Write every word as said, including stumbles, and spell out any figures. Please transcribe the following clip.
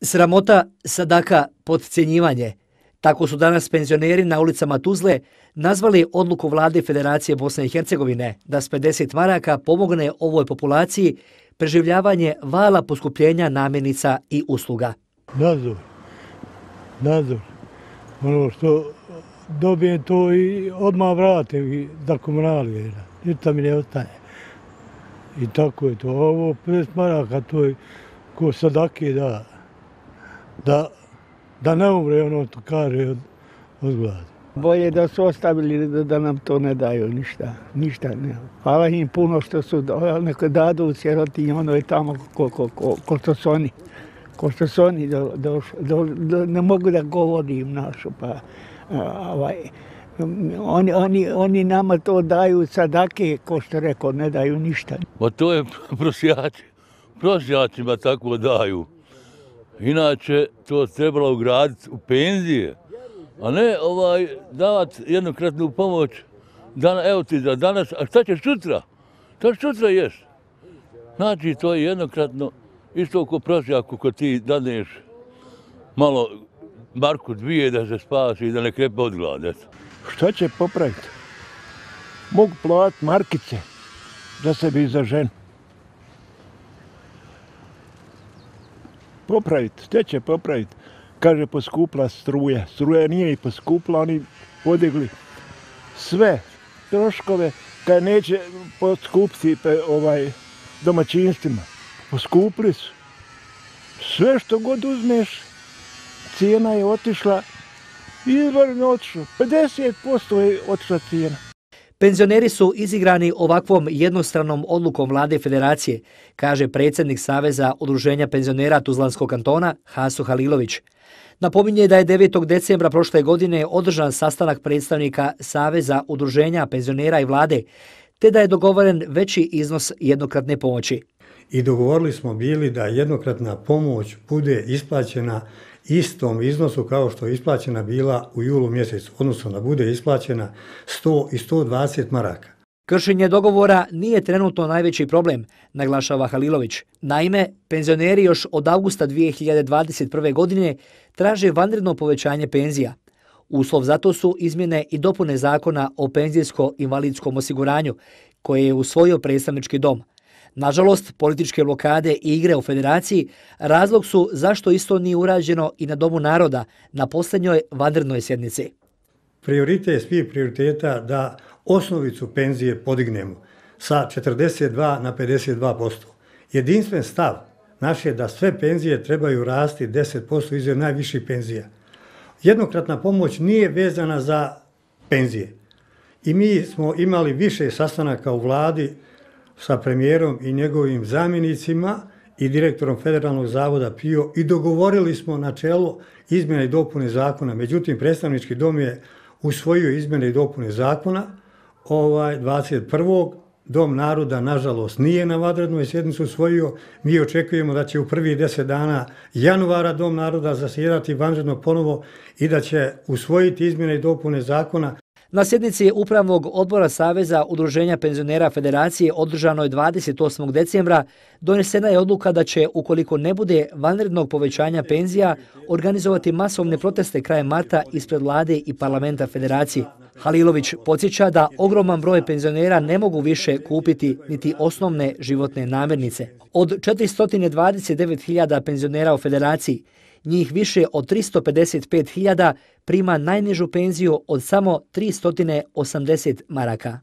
Sramota, sadaka, podcjenjivanje. Tako su danas penzioneri na ulicama Tuzle nazvali odluku vlade Federacije Bosne i Hercegovine da s pedeset maraka pomogne ovoj populaciji preživljavanje vala poskupljenja namirnica i usluga. Nadzor, nadzor. Ono što dobijem to i odmah vratim za komunalije. Ništa mi ne ostane. I tako je to. Ovo pedeset maraka, to je ko sadake da, da, da ne umre, ono to kaže, od, od gladi. Bolje da su ostavili da, da nam to ne daju ništa, ništa ne. Hvala im puno što su, neka dadu u sirotinji, ono je tamo ko, ko, ko, ko što su oni, ko što su oni, do, do, do, do, ne mogu da govorim našu, pa ovaj, oni, oni, oni nama to daju sadake, ko što rekao, ne daju ništa. Pa to je prosjaci, prosjacima tako daju. Inače, to trebalo ugraditi u penzije, a ne ovaj, davati jednokratnu pomoć. Dan, evo ti za danas, a šta ćeš sutra? Šta ćeš sutra ješ? Znači, to je jednokratno, isto ko prosjaku ko ti daneš malo marku dvije da se spasi i da ne krepe od glade. Šta će popraviti? Mogu platiti markice za sebe i za ženu. Popraviti, šta će popraviti? Kaže, poskupla struja. Struja nije i poskupla, oni podigli sve troškove, kad neće poskupiti ovaj, domaćinstvima. Poskupli su. Sve što god uzmeš, cijena je otišla, izvorno otišla. pedeset posto je otišla cijena. Penzioneri su izigrani ovakvom jednostranom odlukom vlade Federacije, kaže predsjednik Saveza udruženja penzionera Tuzlanskog kantona Haso Halilović. Napominje da je devetog decembra prošle godine održan sastanak predstavnika Saveza udruženja penzionera i vlade, te da je dogovoren veći iznos jednokratne pomoći. I dogovorili smo bili da jednokratna pomoć bude isplaćena istom iznosu kao što je isplaćena bila u julu mjesecu, odnosno da bude isplaćena sto i sto dvadeset maraka. Kršenje dogovora nije trenutno najveći problem, naglašava Halilović. Naime, penzioneri još od avgusta dvije hiljade dvadeset prve. godine traže vanredno povećanje penzija. Uslov za to su izmjene i dopune zakona o penzijsko-invalidskom osiguranju, koje je usvojio predstavnički dom. Nažalost, političke blokade i igre u federaciji razlog su zašto isto nije urađeno i na Domu naroda na posljednjoj vanrednoj sjednici. Prioritet svih prioriteta da osnovicu penzije podignemo sa četrdeset dva na pedeset dva posto. Jedinstven stav naš je da sve penzije trebaju rasti deset posto iznad najviših penzija. Jednokratna pomoć nije vezana za penzije. I mi smo imali više sastanaka u vladi sa premijerom i njegovim zamjenicima i direktorom Federalnog zavoda P I O i dogovorili smo načelo izmjene i dopune zakona. Međutim, predstavnički dom je usvojio izmjene i dopune zakona ovaj, dvadeset prvog Dom naroda, nažalost, nije na vanrednoj sjednici usvojio. Mi očekujemo da će u prvih deset dana januara Dom naroda zasjedati vanredno ponovo i da će usvojiti izmjene i dopune zakona. Na sjednici Upravnog odbora Saveza udruženja penzionera Federacije održanoj dvadeset osmog decembra donesena je odluka da će, ukoliko ne bude vanrednog povećanja penzija, organizovati masovne proteste krajem marta ispred vlade i parlamenta Federacije. Halilović podsjeća da ogroman broj penzionera ne mogu više kupiti niti osnovne životne namirnice. Od četiristo dvadeset devet hiljada penzionera u Federaciji, njih više od tristo pedeset pet hiljada prima najnižu penziju od samo tristo osamdeset maraka.